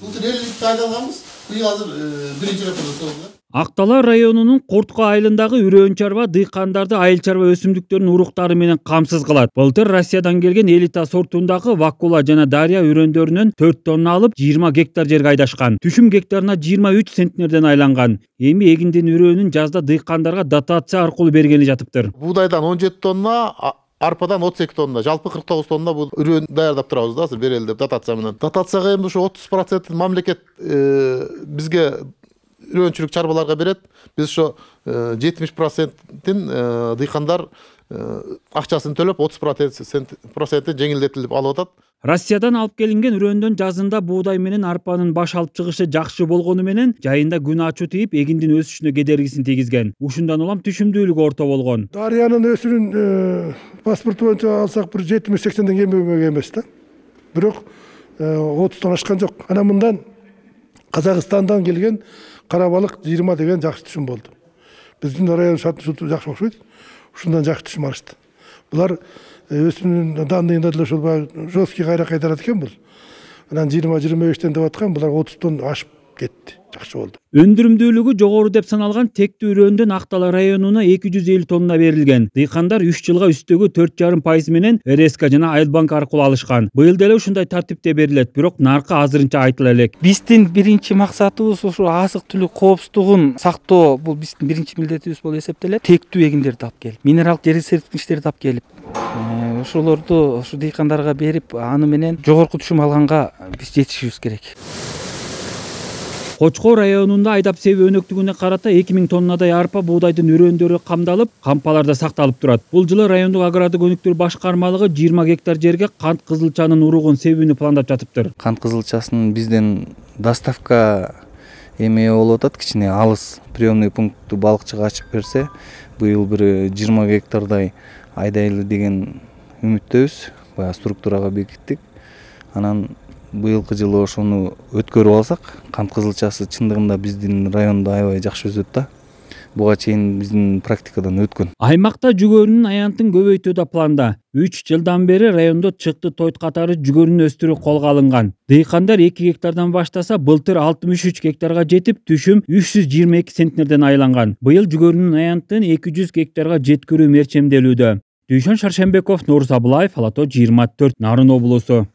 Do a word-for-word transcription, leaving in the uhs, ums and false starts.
Былтыр элүү литрди айдалганбыз. Быйыл азыр биринчи рет болду. Ак-Талаа районунун Куртко айылындагы үрөөн чарба дыйкандарды айыл чарба өсүмдүктөрүнүн уруктары менен камсыз кылат. Былтыр Россиядан келген элита сортундагы Вакула жана Дарья үрөөндөрүнөн төрт тонна алып, жыйырма гектар жерге айдашкан. Түшүм гектарына жыйырма үч центнерден айланган. Эми эгиндин үрөөнүн жазда дыйкандарга дотация аркылуу бергени жатыптыр. Буудайдан он жети тонна, арпадан отуз эки тонна, жалпы кырк тогуз тонна бул үрөөн даярдап турабыз да, азыр берели деп дотация менен. Дотацияга эми ошо отуз процентин мамлекет бизге үрөөнчүлүк чарбаларга берет. Биз ошо жетимиш процентин дыйкандар акчасын төлөп, отуз процентин жеңилдетилип алып атат. Россиядан алып келинген үрөөндөн жазында буудай менен арпанын баш алып чыгышы жакшы болгону менен жайында күн ачуу тийип эгиндин өсүшүнө кедергисин тийгизген. Ушундан улам түшүмдүүлүгү орто болгон. Дарьянын өсүрүн паспорту боюнча алсак бир жетимиш сексенден кем эмес да. Бирок отуздон ашкан жок. Анан мындан Казакстандан келген кара балык жыйырма деген жакшы түшүм болду. Биздин район шарты жакшы окшойт. Ушундан жакшы түшүм алышты. Булар өсүмдүн данныйында деле ошол жесткий кайра кайтарат экен бул. Анан жыйырма жыйырма бештен деп аткан, булар отуздон ашып кетти. Жакшы болду. Өндүрүмдүүлүгү жогору деп саналган тектүү үрөөндөн Ак-Талаа районуна эки жүз элүү тонна берилген. Дыйкандар үч жылга үстөгү төрт жарым пайыз менен РСК жана Айылбанк аркылуу алышкан. Быйыл деле ушундай тартипте берилет, бирок наркы азырынча айтыла элек. Биздин биринчи максатыбыз ошо азык-түлүк коопсуздугун сактоо. Бул биздин биринчи милдетибиз болуп эсептелет. Тектүү эгиндерди алып келип, минералдык жер серпкичтерди алып келип, ошолорду ушу дыйкандарга берип, аны менен жогорку түшүм алганга биз жетишибиз керек. Кочкор районунда айдап себүү өнөктүгүнө карата эки миң тоннадай арпа буудайдын үрөөндөрү камдалып, кампаларда сакталып турат. Бул жылы райондук агрардык өнүктүрүү башкармалыгы жыйырма гектар жерге кант кызылчанын уругун себүүнү пландап жатыптыр. Кант кызылчасын бизден доставка эме болуп атат, кичине алыс приемный пунктту балыкчыга ачып берсе, быйыл бир жыйырма гектардай айдайлы деген үмүттөбүз. Бая структурага бекиттик. Анан быйылкы жылы ошону өткөрүп алсак, кант кызылчасы чындыгында биздин райондо аябай жакшы өсөт да. Буга чейин биздин практикадан өткөн. Аймакта жүгөрүнүн аянтын көбөйтүү да планда. үч жылдан бери райондо чыкты тойт катары жүгөрүнү өстүрүү колго алынган. Дыйкандар эки гектардан баштаса, былтыр алтымыш үч гектарга жетип, түшүм үч жүз жыйырма эки центнерден айланган. Быйыл жүгөрүнүн аянтын эки жүз гектарга жеткирүү мерчемделүүдө. Дүйшөн Шаршембеков, Нурус Абылаев, Ала тоо жыйырма төрт, Нарын облусу.